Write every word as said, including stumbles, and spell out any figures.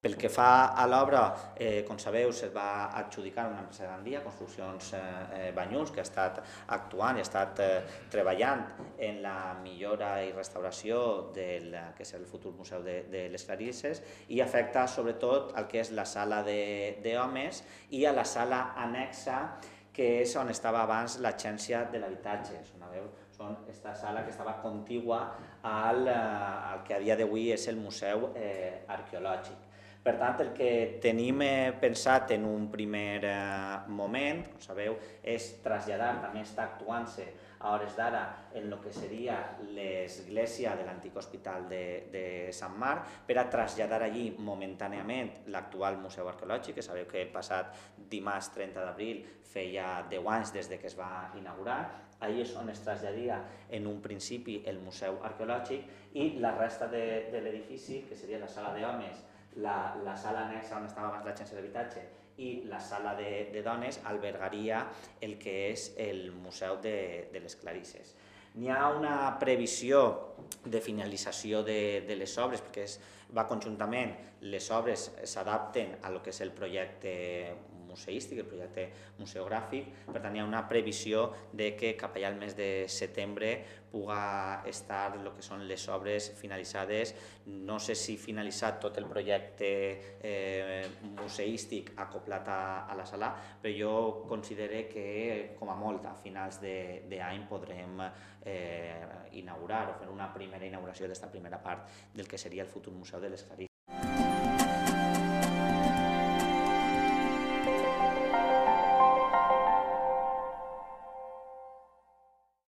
Pel que fa a l'obra, eh, com sabeu, se'l va adjudicar una empresa de Gandia, Construccions eh, Banyuls, que ha estat actuant i ha estat eh, treballant en la millora i restauració del que és el futur Museu de, de les Clarisses, i afecta sobretot el que és la sala d'homes i a la sala anexa, que és on estava abans l'Agència de l'Habitatge. Són aquesta sala que estava contigua al, al que a dia d'avui és el Museu eh, Arqueològic. Per tant, el que tenim pensat en un primer moment, com sabeu, és traslladar, també està actuant-se a hores d'ara en el que seria l'església de l'antic hospital de, de Sant Marc, per a traslladar allí momentàniament l'actual Museu Arqueològic, que sabeu que el passat dimarts trenta d'abril feia deu anys des de que es va inaugurar. Allí és on es traslladia en un principi el Museu Arqueològic, i la resta de, de l'edifici, que seria la sala d'homes, La, la sala anexa on estava abans l'Agència d'Habitatge i la sala de, de dones, albergaria el que és el Museu de, de les Clarisses. N'hi ha una previsió de finalització de, de les obres, perquè es, va conjuntament, les obres s'adapten a lo que és el projecte museístic, el projecte museogràfic. Per tant, hi ha una previsió de que cap allà al mes de setembre puga estar el que són les obres finalitzades. No sé si finalitzat tot el projecte eh, museístic acoplat a, a la sala, però jo considero que com a molt a finals d'any podrem eh, inaugurar o fer una primera inauguració d'esta primera part del que seria el futur Museu de les Clarisses.